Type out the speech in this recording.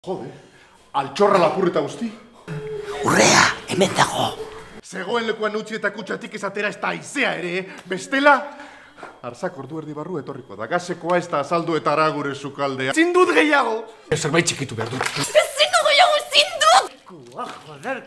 Jode, altxorra lapurreta guzti. Urrea, hemen dago. Zegoen lekuan utzi eta kutsatik ezatera ez da aizea ere, bestela? Arzak ordu erdi barru etorriko da, gazekoa ez da azaldu eta ara gure sukaldea. Zindut gehiago! Zerbait txikitu behar dut. Ezin gehiago, ezin dut! Joder!